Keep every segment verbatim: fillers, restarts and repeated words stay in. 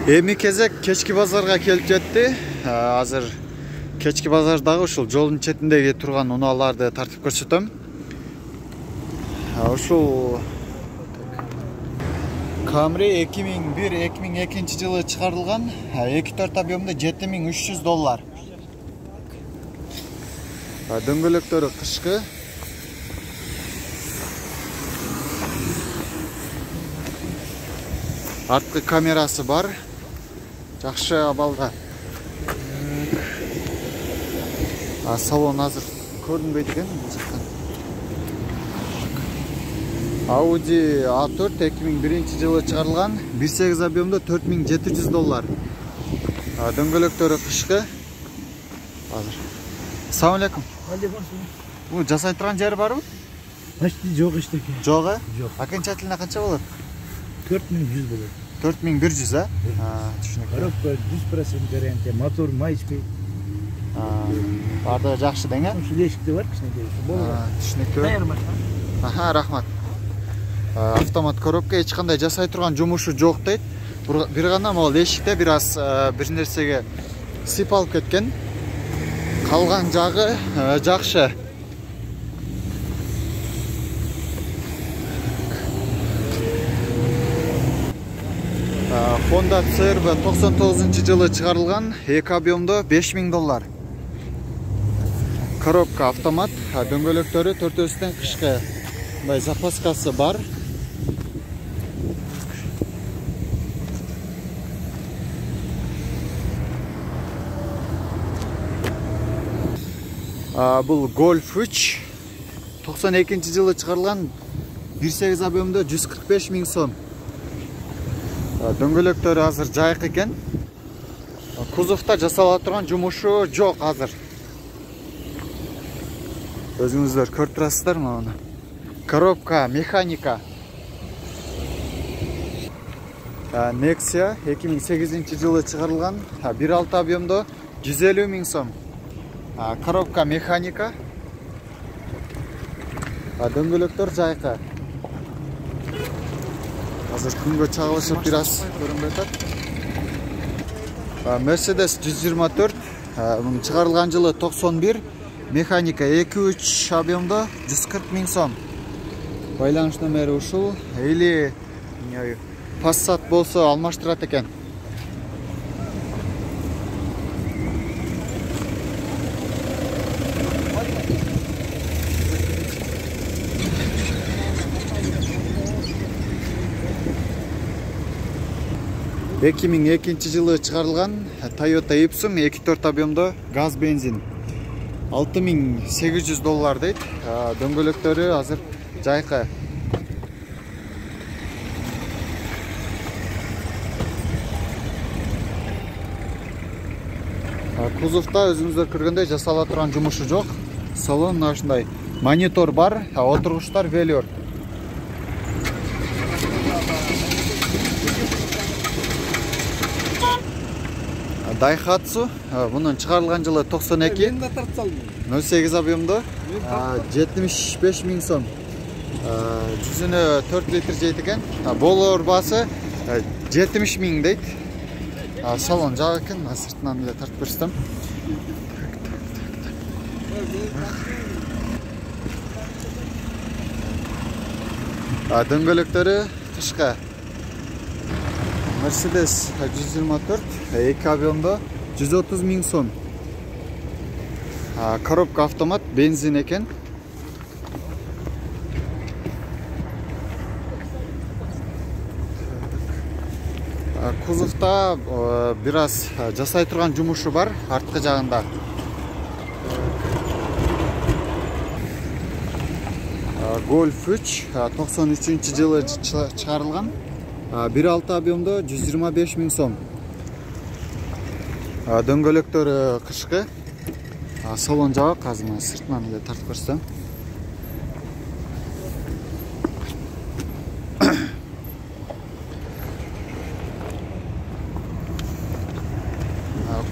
Эми кезек кечки базарга келип жетти. Азыр кечки базардагы ушул жолдун четиндеги турган унааларды тартып көрсөтөм. Ушул Camry эки миң бир эки миң экинчи жылы чыгарылган, эки төрт объемда жети миң үч жүз доллар. Дөңгөлөктөрү кышкы. Арткы камерасы бар. Жакшы абалда. А салон азыр көрүнбөйт экен бул жактан. Audi А төрт эки миң биринчи жылы чыгарылган, бир сегиз объемда төрт миң жети жүз доллар. Дөңгөлөктөрү кышкы. Азыр. Assalamu alaikum. Бул жасай турган жери барбы? Почти жок эчтеке. Жок э? Жок. Окончательно канча болот? төрт миң жүз болот. төрт миң бир жүз, а? Түшүнүктүү. Коробка жүз процент гарантия, мотор май ичпей. Барды жакшы дең, э? Ушул эшикте бар кичинекей. Болот. Түшүнүктүү. Даярбы? Аха, рахмат. Автомат коробка эч кандай жасай турган жумушу жок дейт. Бир гана могул эшикте бир аз бир нерсеге сыйпалып кеткен. Калган жагы жакшы. Honda си эр ви токсон тогузунчу жылы чыгарылган, эки объемдо беш миң доллар. Коробка автомат, дөңгөлөктөрү төртөөсүнөн кышкы. Мындай запаскасы бар. Бул Golf үч токсон экинчи жылы чыгарылган, бир сегиз объемдо жүз кырк беш миң сом. Дөңгөлөктөрү азыр жайык экен. Кузовда жасала турган жумушу жок азыр. Өзүңүздөр көрүп турасыздар муну. Коробка механика. Nexia эки миң сегизинчи жылы чыгарылган, бир алты объемдо жүз элүү миң сом. Коробка механика. Дөңгөлөктөр жайкы. Азыр күнгө чагылышып бир аз көрүнбөй атат. Mercedes жүз жыйырма төрт, муну чыгарылган жылы токсон бир, механика эки үч объемдо жүз кырк миң сом. Байланыш номери ушул. Или Passat болсо алмаштырат экен. эки миң экинчи жылы чыгарылган Toyota Ipsum эки төрт объемдо газ бензин. алты миң сегиз жүз доллар дейт. Дөңгөлөктөрү азыр жайкы. Кузовда өзүңүздөр көргөндөй жасала турган жумушу жок. Салон ушундай монитор бар, отургучтар велюр. Daihatsu, bunun чыгарылган жылы токсон эки, нөл сегиз объемдо жетимиш беш миң сом. Жүзүнө төрт литр жейт экен. Болор баасы жетимиш миң дейт. Салон жак экен, сыртынан эле тартып көрсөтөм. Дөңгөлөктөрү кышкы. Mercedes жүз жыйырма төрт, эки объемдо жүз отуз миң сом. Коробка автомат, бензин экен. Кузовда бир аз жасай турган жумушу бар, арткы жагында. Golf үч токсон үчүнчү жылы чыгарылган, бир алты объемдо жүз жыйырма беш миң сом. Дөңгөлөктөрү кышкы. Салон жабык, азыр сыртынан эле тартып көрсөтөм.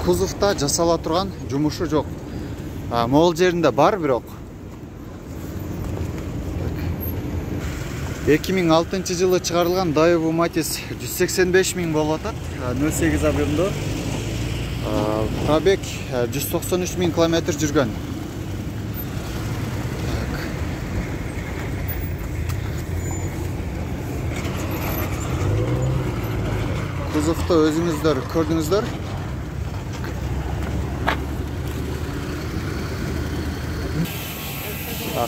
Кузовда жасала турган жумушу жок. Могул жеринде бар бирок. эки миң алтынчы жылы чыгарылган Daewoo Matiz жүз сексен беш миң болуп атат. нөл сегиз объемдо. Пробег жүз токсон үч миң километр жүргөн. Кузовду өзүңүздөр көрдүңүздөр.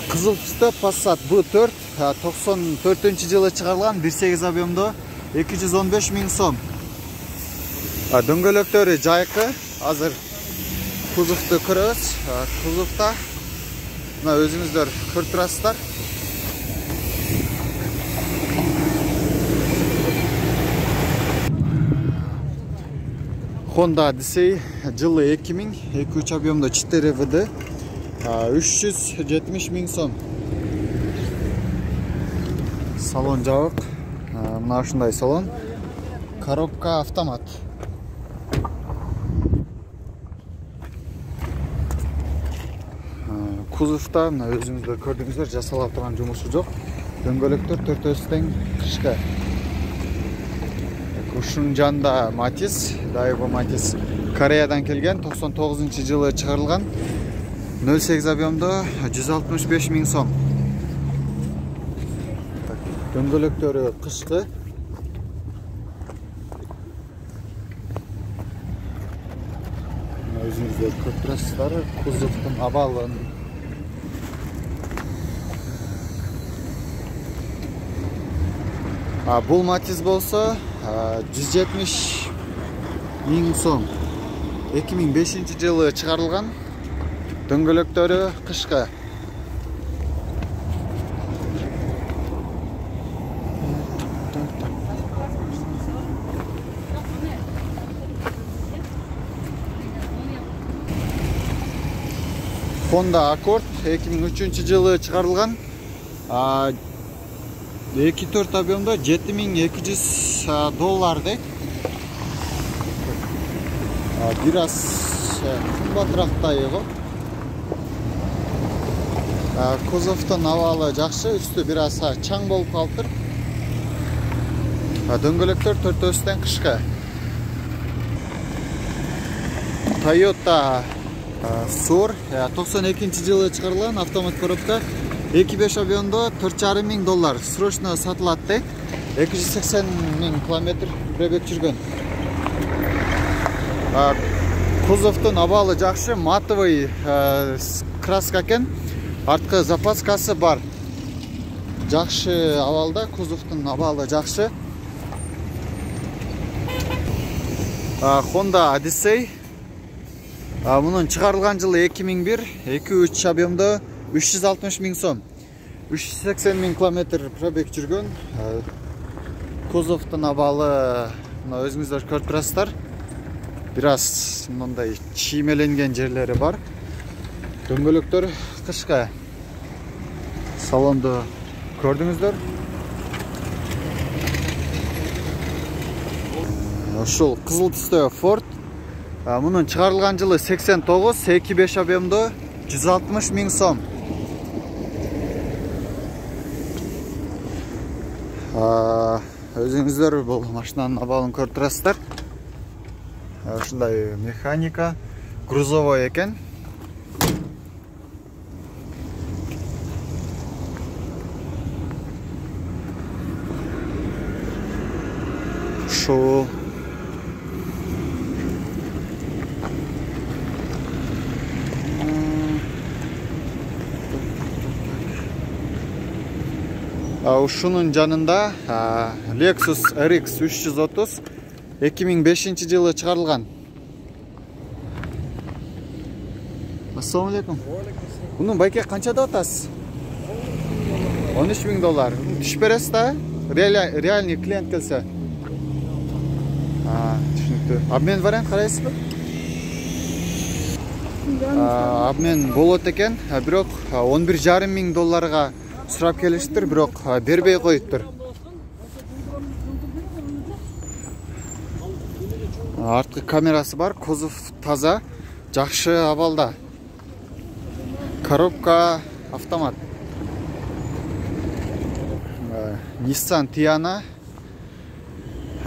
Кызыл түстө Passat B төрт токсон төртүнчү жылы чыгарылган бир сегиз объемдо эки жүз он беш миң сом. Дөңгөлөктөрү жайкы. Азыр кузовду көрөбүз. Кузовда мына өзүңүздөр көрүп турасыздар. Honda Odyssey жылы эки миң эки үч объемдо четыре вэ дэ үч жүз жетимиш миң сом. Салон жабык. Мына ушундай салон. Коробка автомат. Кузовда мына өзүңүздөр көрдүңүздөр, жасалып турган жумушу жок. Дөңгөлөктөр төртөөсү тең кышкы. Ушунун жанында Matiz, Daewoo Matiz Кореядан келген, токсон тогузунчу жылы чыгарылган. нөл сегиз объемдо жүз алтымыш беш миң сом. Дөңгөлөктөрү кышкы. Өзүңүздөр көрүп турасыздар, кузовдун абалын. А бул Matiz болсо жүз жетимиш миң сом. эки миң бешинчи жылы чыгарылган. Дөңгөлөктөрү кышкы. Honda Accord эки миң үчүнчү жылы чыгарылган. эки төрт объемдо жети миң эки жүз доллар дейт. Бир аз кымбатыраак го. Кузовдун абалы жакшы, үстү бир аз чаң болуп калыптыр. Дөңгөлөктөр төртөөсү тең кышкы. Toyota Soul токсон экинчи жылы чыгарылган автомат коробка. эки беш объемдо төрт жарым миң доллар. Срочно сатылат дейт. эки жүз сексен миң километр пробег жүргөн. Кузовдун абалы жакшы, матовый краска экен. Арткы запаскасы бар. Жакшы абалда, кузовдун абалы жакшы. Honda Odyssey. Мунун чыгарылган жылы эки миң бир, эки үч объемдо үч жүз алтымыш миң сом. үч жүз сексен миң километр пробег жүргөн. Кузовдун абалы мына өзүңүздөр көрүп турасыздар. Бир аз мындай чиймеленген жерлери бар. Дөңгөлөктөр кышкы. Салонду көрдүңүздөр. Ушул кызыл түстө Ford. Мунун чыгарылган жылы сексен тогуз, эки беш объемдо жүз алтымыш миң сом. Өзүңүздөр бул машинанын абалын көрүп турасыздар. Ушундай механика, грузовой экен. Ушул Ушунун жанында Lexus эр икс үч жүз отуз эки миң бешинчи жылы чыгарылган. Ассаламу алейкум. Мунун байке канчада атасыз? он үч миң доллар. Түшүп бересиз да? Реальный клиент келсе. Түшүнүктүү. Обмен вариант карайсызбы? Обмен болот экен, бирок он бир жарым миң долларга сурап келиштир, бирок бербей коюптур. Арткы камерасы бар, кузов таза, жакшы абалда. Коробка автомат. Nissan Tiana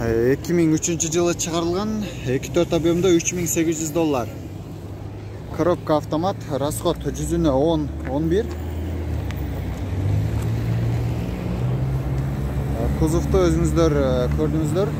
эки миң үчүнчү жылы чыгарылган, эки төрт объемдо үч миң сегиз жүз доллар. Коробка автомат, расход жүзүнө он он бир. Кузовду өзүңүздөр көрдүңүздөр.